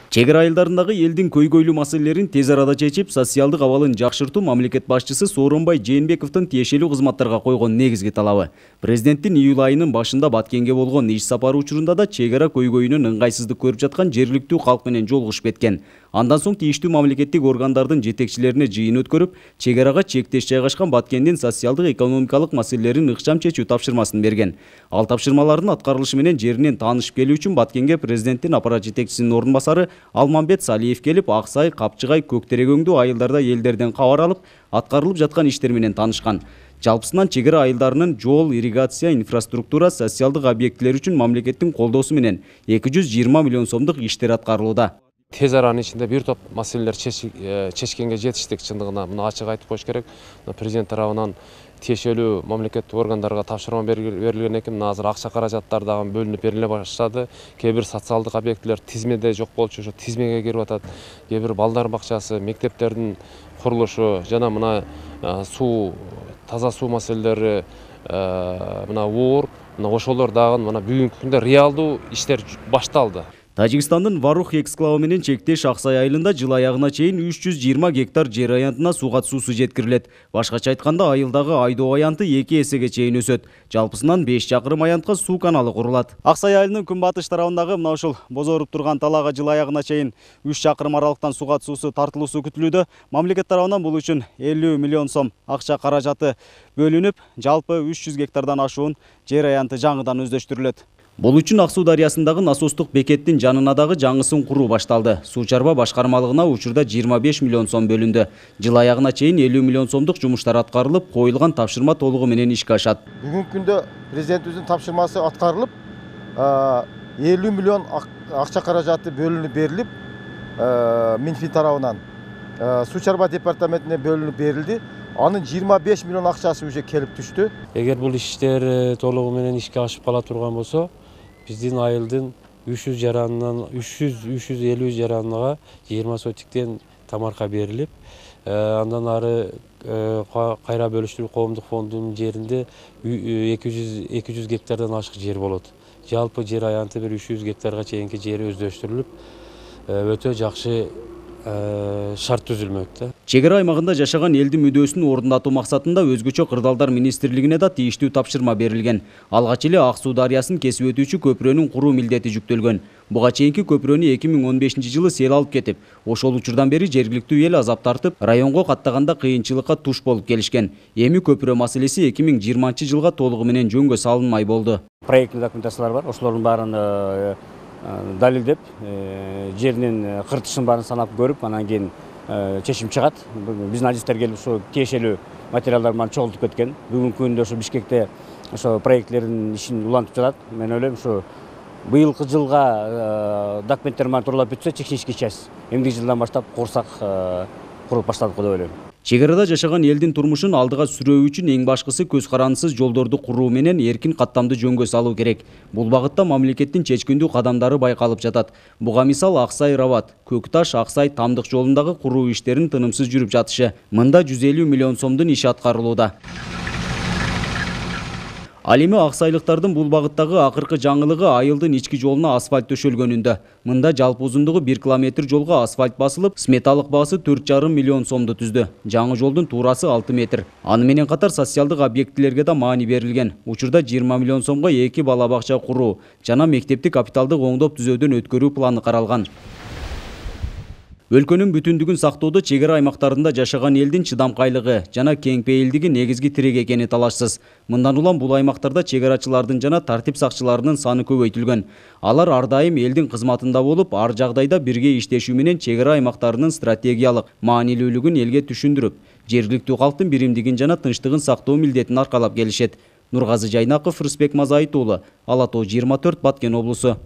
Чек ара айылдарындагы элдин көйгөйлүү маселелерин тез арада чечип, социалдык абалын жакшыртуу мамлекет башчысы Сооронбай Жээнбековдун тиешелүү кызматтарга койгон негизги талабы. Президенттин июль айынын башында Баткенге болгон иш сапары учурунда да чек ара көйгөйүнөн ыңгайсыздык көрүп жаткан жергиликтүү калк менен жолугушуп кеткен. Андан соң тийиштүү мамлекеттик органдардын жетекчилерине жыйын өткөрүп, чек арага чектеш жайгашкан Баткендин социалдык экономикалык маселелерин ыкчам чечүү тапшырмасын берген. Ал тапшырмалардын аткарылышы менен жеринен таанышып келүү үчүн Баткенге президенттин аппарат жетекчисинин орун басары Алмамбет Салиев келип, Аксай, Капчыгай, Көктерек айылдарда элдерден кабар алып, аткарылып жаткан иштер менен таанышкан. Жалпысынан чек ара айылдарынын жол, ирригация, инфраструктура, социалдык объектилер үчүн мамлекеттин колдоосу менен 220 миллион сомдук иштер аткарылууда. Тез аранын ичинде бир топ маселелер чечкенге жетиштик, чындыгына муну ачык айтып коюш керек. Президент тарабынан тиешелүү мамлекеттик органдарга тапшырма берилген экен. Азыр акча каражаттар дагы бөлүнүп бериле баштады. Кээ бир социалдык объектилер тизмеде жок болчу, ошо тизмеге кирип атат. Кээ бир балдар бакчасы, мектептердин курулушу жана мына суу, таза суу маселелери, мына оор, мына ошолор дагы мына бүгүнкү күндө реалдуу иштер башталды. Тажикстандын Варух эксклавы менен чектеш Аксай айылында жыл аягына чейин 320 гектар жер аянтына сууга суусу жеткирилет. Башкача айтканда, айылдагы айдоо аянты 2 эсеге чейин өсөт. Жалпысынан 5 чакырым аянтка суу каналы курулат. Аксай айылынын күнбатыш тарабындагы мына ушул бозоруп турган талаага жыл аягына чейин 3 чакырым аралыктан сууга суусу тартылуусу күтүлүүдө. Мамлекет тарабынан бул үчүн 50 миллион сом акча каражаты бөлүнүп, жалпы 300 гектардан ашуун жер аянты жаңыдан өздөштүрүлөт. Бул үчүн Ак суу дарыясындагы насостук бекеттин жанына дагы жаңысын куруу башталды. Суу чарба башкармалыгына учурда 25 миллион сом бөлүндү. Жыл аягына чейин 50 миллион сомдук жумуштар аткарылып, коюлган тапшырма толугу менен ишке ашат. Бүгүнкү күндө президентибиздин тапшырмасы аткарылып, 50 миллион акча каражаты бөлүнүп берилип, Минфин тарабынан суу чарба департаментине бөлүнүп берилди. Анын 25 миллион акчасы уже келип түштү. Эгер бул иштер толугу менен ишке ашып кала турган болсо, биздин айылдын 300 жаранынан 350 жаранга 20 сотиктен тамарка берилип, андан ары кайра бөлүштүрүү коомдук фондунун жеринде 200 гектардан ашык жер болот. Жалпы жер аянты бир 300 гектарга чейинки жери өздөштүрүлүп, өтө жакшы шарт түзүлмөктө. Чек ара аймагында жашаган элдин мүдөөсүн орундатуу максатында өзгөчө кырдаалдар министрлигине да тийиштүү тапшырма берилген. Алгач эле Ак суу дарыясын кесип өтүүчү көпүрөнүн куруу милдети жүктөлгөн. Буга чейинки көпүрөнү 2015 жылы сел алып кетип, ошол учурдан бери жергиликтүү эл азап тартып, районго каттаганда кыйынчылыкка туш болуп келишкен. Эми көпүрө маселеси 2020 жылга толугу менен жөнгө салынмай болду. Проекттик документациялар бар, ошолордун баарын далилдеп, жеринин кыртышын баарын санап көрүп, анан кийин чечим чыгат. Биздин адистер келип ошо тиешелүү материалдар менен чогултуп кеткен. Бүгүнкү күндө ошо Бишкекте ошо проектлердин ишин улантып жатат. Мен ойлойм, ошо быйылкы жылга документтер менен тууралап бүтсө, технический часть эмдиги жылдан баштап курсак куруп баштадык деп ойлойм. Чек арада жашаган элдин турмушун алдыга сүрөө үчүн эң башкысы көз карандысыз жолдорду куруу менен эркин каттамды жөнгө салуу керек. Бул багытта мамлекеттин чечкиндүү кадамдары байкалып жатат. Буга мисал Аксай Рабат, Көкташ Аксай Тамдык жолундагы куруу иштерин тынымсыз жүрүп жатышы. Мында 150 миллион сомдун иши аткарылууда. Ал эми аксайлыктардын бул багыттагы акыркы жаңылыгы айылдын ички жолуна асфальт төшөлгөнүндө. Мында жалпы узундугу 1 километр жолго асфальт басылып, сметалык баасы 4,5 миллион сомду түздү. Жаңы жолдун туурасы 6 метр. Аны менен катар социалдык объектилерге да маани берилген. Учурда 20 миллион сомго 2 бала бакча куруу жана мектепти капиталдык оңдоп түзөөдөн өткөрүү планы каралган. Өлкөнүн бүтүндүгүн сактоодо чек ара аймактарында жашаган элдин чыдамкайлыгы жана кеңпейилдиги негизги тирек экени талашсыз. Мындан улам бул аймактарда чек арачылардын жана тартип сакчыларынын саны көбөйтүлгөн. Алар ар дайым элдин кызматында болуп, ар жагдайда бирге иштешүү менен чек ара аймактарынын стратегиялык маанилүүлүгүн элге түшүндүрүп, жергиликтүү калктын биримдигин жана тынчтыгын сактоо милдетин аркалап келишет. Нургазы Жайнаков, Рысбек Мазайыт уулу, Ала Тоо 24, Баткен облусу.